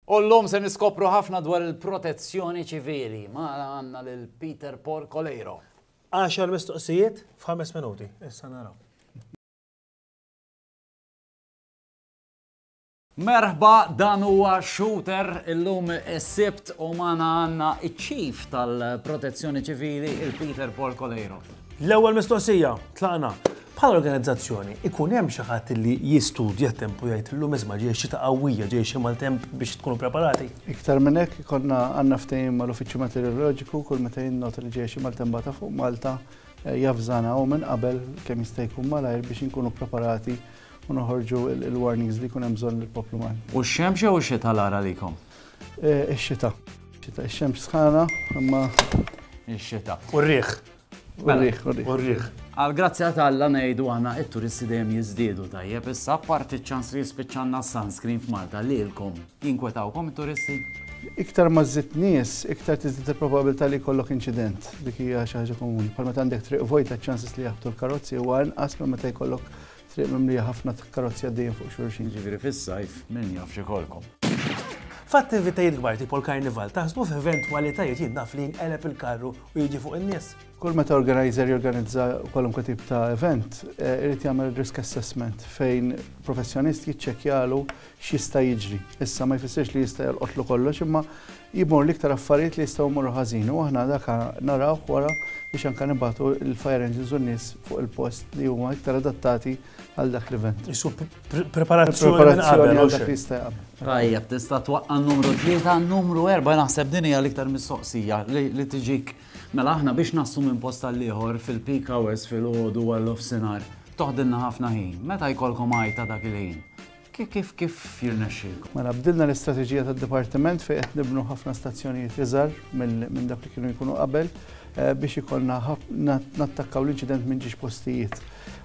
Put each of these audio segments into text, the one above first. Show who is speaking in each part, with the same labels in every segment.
Speaker 1: U llum se niskopru ħafna dwar il-protezzjoni ċivili. Magħna għandna lil Peter Paul Coleiro.
Speaker 2: Għaxar mistoqsijiet f'ħames minuti. Issa naraw.
Speaker 1: Merħba, dan huwa Shooter illum is-Sibt u magħna għandna iċ-Chief tal-Protezzjoni Ċivili, il-Peter Paul Coleiro.
Speaker 2: L-ewwel mistoqsija, tlaqna. Bħala organizzazzjoni, ikun hemm xi ħadd li jistudja t-temp u jgħid illum isma' ġej xita qawwija, ġej xi maltemp biex tkunu preparati?
Speaker 3: Iktar minn hekk, ikollna għandna ftehim mal-Uffiċċju Meteoroloġiku kull meta jinnota li ġejja xi maltempata fuq Malta javżana hu minn qabel kemm jista' jkun malajr biex inkunu preparati u noħorġu l-warnings li jkun hemm bżonn lill-poplu Malti.
Speaker 1: U x-xemx jew ix-xita l-agħar għalikom?
Speaker 3: Ix-xita. Ix-xita, ix-xemx sħana, imma.
Speaker 1: Ix-xita.
Speaker 2: U r-riħ.
Speaker 3: Mela. U r-riħ, u r-riħ.
Speaker 2: U r-riħ.
Speaker 1: Għall-grazzja ta' Alla ngħidu aħna it-turisti dejjem jiżdiedu tajjeb issa apparti ċ-ċans li jispiċċalna s-sunscreen f'Malta lilkom jinkwetawkom it-turisti?
Speaker 3: Iktar ma żżid nies, iktar tiżdied il-probabilità li jkollok inċident. Dik hija xi ħaġa komuni. Bħal meta għandek triq vojta ċ-ċanses li jaħbtu l-karozzi huwa inqas minn meta jkollok Triq mimlija ħafna karozzi għaddejjin fuq xulxin.
Speaker 1: Jiġifieri fis-sajf min jaf x'ikollkom.
Speaker 2: F'attivitajiet kbar tipo l-karnival taħsbu f'eventwalitajiet jien naf li jinqeleb il-karru u jiġi fuq in-nies?
Speaker 3: Kull meta organizer jorganizza kwalunkwe tip ta' event, eh, irid jagħmel risk assessment fejn professjonist jiċċekkjalu x'jista' jiġri. Issa ma jfissirx li jista' jolqotlu kollox imma jmur l-iktar affarijiet li jistgħu jmorru ħażin u aħna dak narawh wara biex anke nibagħtu l-fire engines u n-nies fuq il-post li huma iktar adattati għal dak l-event.
Speaker 2: Isu preparazzjoni għal
Speaker 3: dak li jista' jaqbel.
Speaker 1: Tajjeb, tista' twaqqa' numru 3, numru 4 naħseb din hija l-iktar mistoqsija li tiġik. Mela aħna biex naslu minn post għal ieħor fil-peak hours filgħodu għal nofsinhar toħdilna ħafna ħin. Meta jkollkom għajta dak il-ħin? Kif kif kif jirnexxielkom?
Speaker 3: Mela bdilna l-istrateġija tad-dipartiment fejn qed nibnu ħafna stazzjonijiet iżgħar minn dak li kienu jkunu qabel eh, biex ikollna nattakkaw l-inċident minn ġiex postijiet.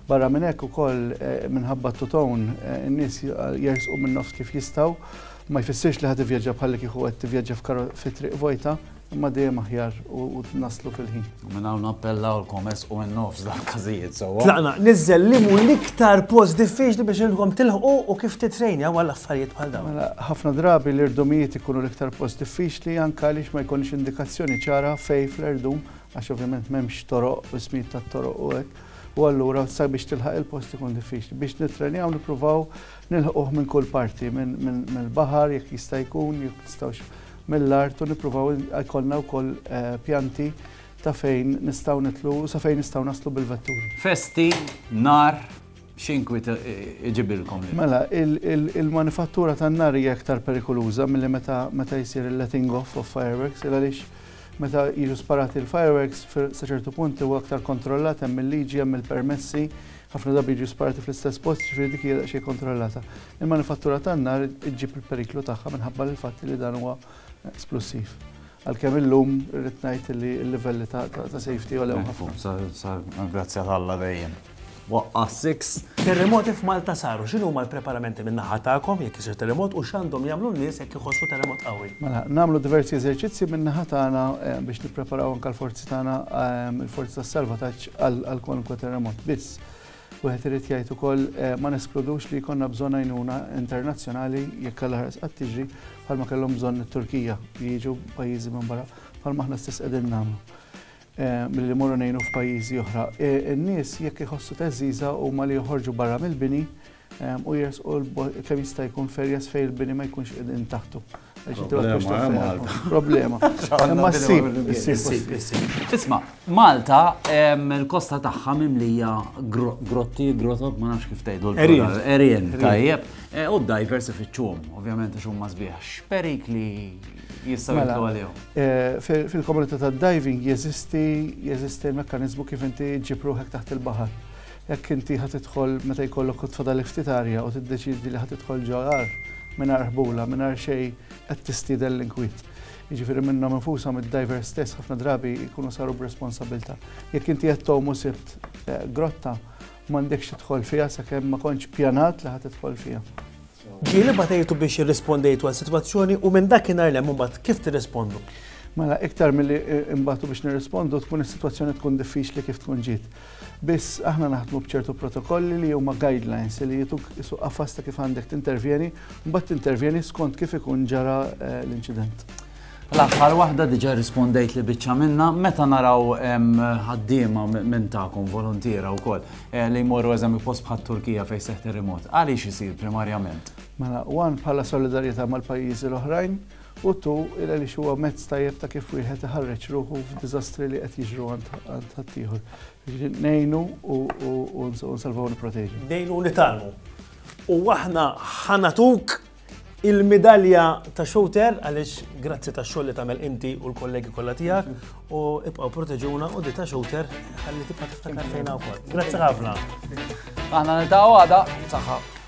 Speaker 3: Barra minn hekk ukoll eh, minħabba t-tutone eh, in-nies jersqu minn nofs kif jistgħu ma jfissirx li ħa tivvjaġġa bħalli kieku qed tivvjaġġa fi triq vojta, Imma dejjem aħjar u naslu fil-ħin.
Speaker 1: U minn hawn nappellawlkom ersqu minn nofs dal-każijiet sewwa.
Speaker 2: Tlaqna, niżżel li mhu l-iktar post diffiċli biex intkom tilħqu u kif titrejnjaw għal affarijiet bħal dawn.
Speaker 3: Mela, ħafna drabi l-irdumijiet ikunu l-iktar post diffiċli anke għaliex ma jkollniex indikazzjoni ċara fejn fl-irdum għax ovvjament m'hemmx toroq u ismijiet tat-toroq u hekk. U allura sabiex tilħaq il-post ikun diffiċli. Biex nittrenjaw nippruvaw nilħquh minn kull parti, mill-baħar jekk jista' jkun, jekk nistgħux mill-art u nippruvaw jkollna wkoll pjanti ta' fejn nistgħu nidħlu u sa fejn nistgħu naslu bil-vetturi.
Speaker 1: Festi, nar, x'inkwiet iġibilkom lilkom?
Speaker 3: Mela, il-manifattura tan-nar hija iktar perikoluża milli meta meta jsir il-letting off of fireworks il għaliex meta jiġu sparati l-fireworks sa ċertu punt huwa aktar kontrollat hemm il-liġi, hemm il-permessi, ħafna drabi jiġu sparati fl-istess post, jiġifieri dik hija daqsxejn kontrollata. Il-manifattura tan-nar iġġib il-periklu tagħha minħabba l-fatt li dan huwa splussiv. Għalkemm illum irrid ngħid li l-livelli ta' safety għolew
Speaker 1: ħafna. Grazzi għal Alla dejjem. Waqqa' 6.
Speaker 2: Terremoti f'Malta saru, x'inhuma l-preparamenti min-naħa tagħkom jekk isir terremot u x'għandhom jagħmlu n-nies jekk iħossu terremot qawwi?
Speaker 3: Mela, nagħmlu diversi eżerċizzji min-naħa tagħna eh, biex nippreparaw anke l-forzi tagħna, eh, il-forzi tas-salvataġġ għal kwalunkwe terremot. Biss, Wieħed irid jgħid ukoll ma neskludux li jkollna bżonn għajnuna internazzjonali jekk Alla ħares qatt tiġri bħalma kellhom bżonn it-Turkija li jiġu pajjiżi minn barra bħalma aħna stess qegħdin nagħmlu milli mmorru ngħinu f'pajjiżi oħra. In-nies jekk iħossu theżżiża huma li joħorġu barra mill-bini u jersqu kemm jista' jkun f'areas fejn il-bini ma jkunx qegħdin taħtu.
Speaker 1: Problema, eh,
Speaker 3: Problema. Imma ssib, issib,
Speaker 1: issib. Isma', Malta il-kosta tagħha mimlija grotti, grotot, ma nafx kif tgħidu.
Speaker 2: Erien.
Speaker 1: Erien, tajjeb. E, u d-divers ifittxuhom, ovvjament għax huma sbieħ. X'perikli jistgħu mela, jitlu għalihom?
Speaker 3: E, fil-komunità tad-diving jeżisti jeżisti l-mekkaniżmu kif inti ġġib ruħek taħt il-baħar. Jekk inti ħa tidħol meta jkollok u tfadal ftit arja u tiddeċiedi li ħa tidħol ġo għar mingħajr ħbula, mingħajr xejn qed tistieden l-inkwiet. Jiġifieri minnhom infushom id-divers stess ħafna drabi jkunu saru b'responsabilità. Jekk inti qed tgħum u sibt eh, grotta m'għandekx tidħol fiha sakemm ma kontx pjanat li ħa tidħol fiha.
Speaker 2: Ġieli batejtu biex irrispondejtu għal sitwazzjoni u minn dakinhar 'l hemm imbagħad kif tirrispondu?
Speaker 3: Mela, iktar milli imbatu biex nirrispondu tkun is-sitwazzjoni tkun diffiċli kif tkun ġiet. Biss aħna naħdmu b'ċertu protokolli li huma guidelines li jituk isu qafas ta' kif għandek tintervjeni, mbagħad tintervjeni skont kif ikun ġara eh, l-inċident.
Speaker 1: L-aħħar waħda diġà rispondejt li biċċa minna, meta naraw ħaddiema minn tagħkom volontiera wkoll eh, li jmorru eżempju post bħat Turkija fejn seħħ terremot, għaliex isir primarjament?
Speaker 3: Mela, one bħala solidarjetà mal-pajjiżi l-oħrajn, u two il għaliex huwa mezz tajjeb ta' kif wieħed iħarreġ ruħu f'diżastri li qed jiġru għand ħaddieħor. Ngħinu u nsalvaw nipproteġu.
Speaker 2: Ngħinu u nitgħallmu. U aħna ħa nagħtuk il-midalja ta' shooter għaliex grazzi tax-xogħol li tagħmel inti u l-kollegi kollha tiegħek u ibqgħu proteġuna u di ta' shooter ħalli tibqa' tiftakar fejna wkoll. Grazzi ħafna.
Speaker 1: Aħna niltaqgħu għada, saħħa.